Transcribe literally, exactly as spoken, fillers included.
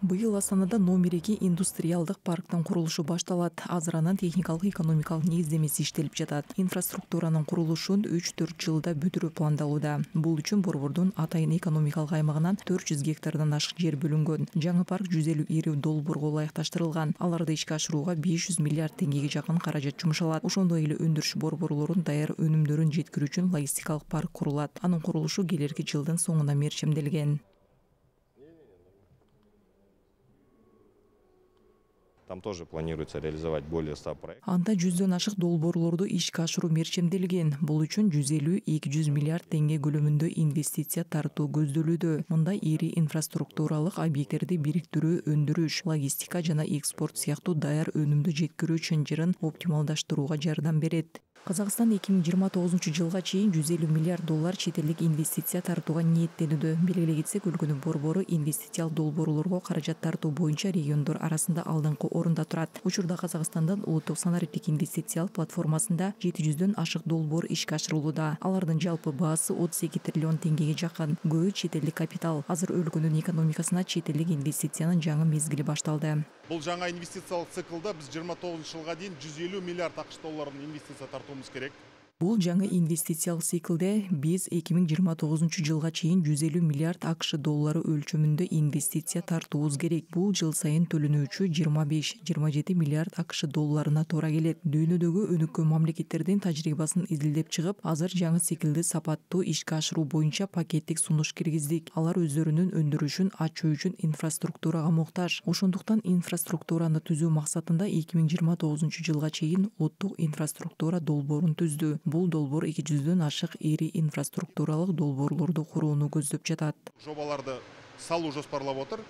Быйыл Астанада номер эки индустриалдык парктын курулушу башталат. Азыр анын техникалык экономикалык негиздемеси иштелип жатат. Инфраструктуранын курулушун үч төрт жылда бүтүрүү пландалууда. Бул үчүн Борбордун Атайын экономикалык аймагынан төрт жүз гектардан ашык жер бөлүнгөн. Жаңы парк жүз элүү ири долбоорго ылайыкташтырылган. Аларды ишке ашырууга беш жүз миллиард теңгеге жакын каражат жумшалат. Ошондой эле өндүрүш борборлорун даяр өнүмдөрүн жеткирүү үчүн логистикалык парк курулат. Анын курулушу келерки жылдын соңуна мерчемделген. Там тоже планируется реализовать более ста проектов. Анда жүздөн ашык долбоорлорду ишке ашыруу мерчемделген. Бул үчүн жүз элүү — эки жүз миллиард теңге көлөмүндө инвестиция тартуу көздөлүүдө. Мында ири инфраструктуралык объекттерди бириктирүү, өндүрүш, логистика жана экспорт сыяктуу даяр өнүмдү жеткирүү чынжырын оптималдаштырууга жардам берет. Казакстан эки миң жыйырма тогузунчу жылга чейин жүз элүү миллиард доллар чет элдик инвестиция тартууга ниеттенүүдө. Белгилей кетсек, өлкөнүн борбору инвестициялык долбоорлорго каражат тартуу боюнча региондор арасында алдыңкы орунда турат. Учурда Казакстандын улуттук санариптик инвестициялык платформасында жети жүздөн ашык долбоор ишке ашырылууда. Алардын жалпы баасы отуз эки триллион теңгеге жакын. Көбү чет элдик капитал. Азыр өлкөнүн экономикасына чет элдик инвестициянын жаңы мезгили башталды. Бул жаңа инвестициялык циклда биз жыйырма тогузунчу жылга чейин жүз элүү миллиард акш долларын инвестиция тартуубуз керек. Бул жаңы инвестициялык циклде биз эки миң жыйырма тогузунчу жылга чейин жүз элүү миллиард акш доллары өлчөмүндө инвестиция тартуубуз керек. Бул жыл сайын төлөнүүчү жыйырма беш — жыйырма жети миллиард акш долларына туура келет. Дүйнөдөгү өнүккөн мамлекеттердин тажрыйбасын изилдеп чыгып, азыр жаңы циклди сапаттуу ишке ашыруу боюнча пакеттик сунуш киргиздик. Алар өздөрүнүн өндүрүшүн ачуу үчүн инфраструктурага муктаж. Ошондуктан инфраструктураны түзүү максатында эки миң жыйырма тогузунчу жылга чейин улуттук инфраструктура долбоорун түздү. Бул долбоор эки жүздөн ашык ири инфраструктуралык долбоорлорду курууну көздөп жатат. Жобаларды салуу жоспарлап отур.